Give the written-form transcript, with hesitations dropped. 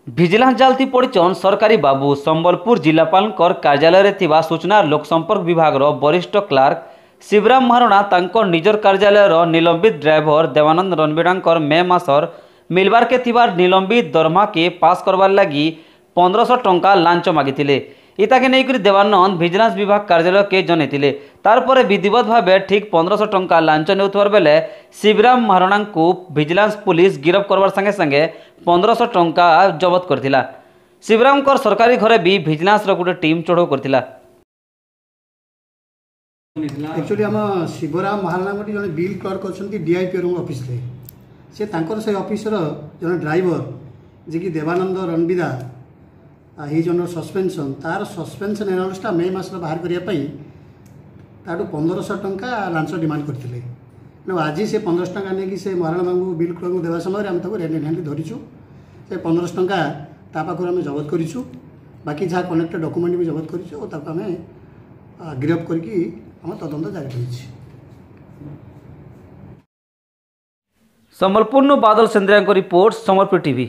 Vigilance ଜାଲଥି ପଡ଼ିଛନ୍ ସରକାରୀ ବାବୁ। ସମ୍ବଲପୁର ଜିଲ୍ଲାପାଳଙ୍କର କାର୍ଯ୍ୟାଳୟରେ ଥିବା ସୂଚନା ଲୋକସମ୍ପର୍କ ବିଭାଗର ବରିଷ୍ଠ କ୍ଲାର୍କ ଶିବରାମ ମହାରଣା ତାଙ୍କ ନିଜର କାର୍ଯ୍ୟାଳୟର ନିଲମ୍ବିତ ଡ୍ରାଇଭର ଦେବାନନ୍ଦ ରଣବୀରାଙ୍କର ମେ ମାସର ମିଲବାରକେ ଥିବାର ନିଲମ୍ବିତ ଦରମାକେ ପାସ୍ କରବାର୍ ଲାଗି 1500 ଟଙ୍କା ଲାଞ୍ଚ ମାଗିଥିଲେ। ଇତାକେ ନେଇକରି ଦେବାନନ୍ଦ ଭିଜିଲାନ୍ସ ବିଭାଗ କାର୍ଯ୍ୟାଳୟକେ ଜଣାଇଥିଲେ। ତାରପରେ ବିଧିବଦ୍ଧ ଭାବେ ଠିକ୍ 1500 ଟଙ୍କା ଲାଞ୍ଚ ନେଉଥିବାର ବେଲେ ଶିବରାମ ମହାରଣାଙ୍କୁ ଭିଜିଲାନ୍ସ ପୁଲିସ ଗିରଫ କରବାର ସାଙ୍ଗେ ସାଙ୍ଗେ 1500 ଟଙ୍କା ଜବତ କରିଥିଲା। ଶିବରାମଙ୍କର ସରକାରୀ ଘରେ ବି ଭିଜିଲାନ୍ସର ଗୋଟେ ଟିମ୍ ଚଢ଼ଉ କରିଥିଲା। ଆକ୍ଚୁଆଲି ଆମ ଶିବରାମ ମହାରଣା ଗୋଟେ ଜଣେ ବିଲ୍ କ୍ଲର୍କ ଅଛନ୍ତି ଡିଆଇପିଆର ଅଫିସରେ। ସେ ତାଙ୍କର ସେଇ ଅଫିସର ଜଣେ ଡ୍ରାଇଭର ଯିଏକି ଦେବାନନ୍ଦ ରଣବିଦା, he under suspension, ତାର ସସ୍ପେନ୍ସନ୍ ଏନାଉନ୍ସଟା ମେ ମାସରେ ବାହାର କରିବା ପାଇଁ ତାଠୁ 1500 ଟଙ୍କା ଲାଞ୍ଚ ଡିମାଣ୍ଡ କରିଥିଲେ। ତେଣୁ ଆଜି ସେ 1500 ଟଙ୍କା ନେଇକି ସେ ମହାରଣା ବାବୁଙ୍କୁ, ବିଲ୍ କ୍ଲର୍କଙ୍କୁ ଦେବା ସମୟରେ ଆମେ ତାକୁ ରେଡ୍ ହ୍ୟାଣ୍ଡ ଧରିଛୁ। ସେ 1500 ଟଙ୍କା ତା ପାଖରୁ ଆମେ ଜବତ କରିଛୁ, ବାକି ଯାହା କନେକ୍ଟେଡ଼ ଡକୁମେଣ୍ଟ ବି ଜବତ କରିଛୁ ଓ ତାକୁ ଆମେ ଗିରଫ କରିକି ଆମ ତଦନ୍ତ ଜାରି ରହିଛି। ସମ୍ବଲପୁରରୁ ବାଦଲ ସେନ୍ଦ୍ରିଆଙ୍କ ରିପୋର୍ଟ, ସମ୍ବଲପୁର ଟିଭି।